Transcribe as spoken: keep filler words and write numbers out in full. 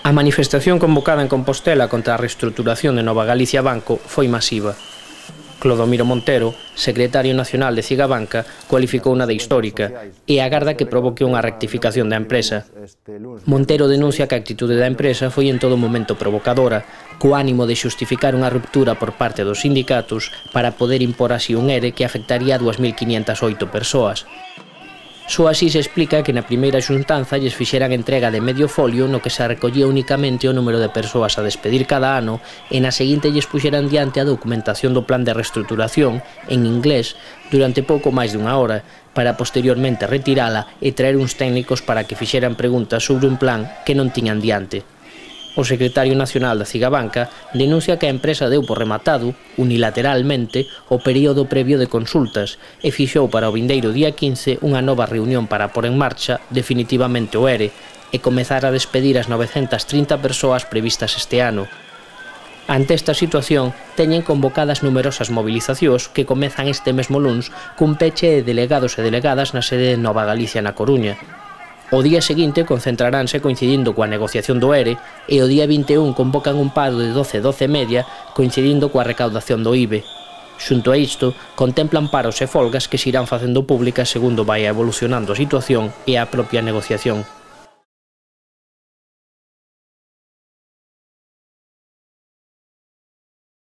A manifestación convocada en Compostela contra a reestruturación de Nova Galicia Banco foi masiva. Clodomiro Montero, secretario nacional de Cigabanca, cualificou unha de histórica e agarda que provoque unha rectificación da empresa. Montero denuncia que a actitude da empresa foi en todo momento provocadora, co ánimo de xustificar unha ruptura por parte dos sindicatos para poder impor así un ERE que afectaría a dúas mil quiñentas oito persoas. Só así se explica que na primeira xuntanza lles fixeran entrega de medio folio no que se recollía únicamente o número de persoas a despedir cada ano e na seguinte lles puxeran diante a documentación do plan de reestruturación en inglés durante pouco máis dunha hora para posteriormente retirala e traer uns técnicos para que fixeran preguntas sobre un plan que non tiñan diante. O secretario nacional da Cigabanca denuncia que a empresa deu por rematado, unilateralmente, o período previo de consultas e fixou para o vindeiro día quince unha nova reunión para pôr en marcha definitivamente o ERE e comezar a despedir as novecentas trinta persoas previstas este ano. Ante esta situación, teñen convocadas numerosas movilizacións que comezan este mesmo luns cun peche de delegados e delegadas na sede de Nova Galicia na Coruña. O día seguinte concentraránse coincidindo coa negociación do ERE e o día vinte e un convocan un paro de doce a doce e media coincidindo coa recaudación do I B E. Xunto a isto, contemplan paros e folgas que se irán facendo públicas segundo vai evolucionando a situación e a propia negociación.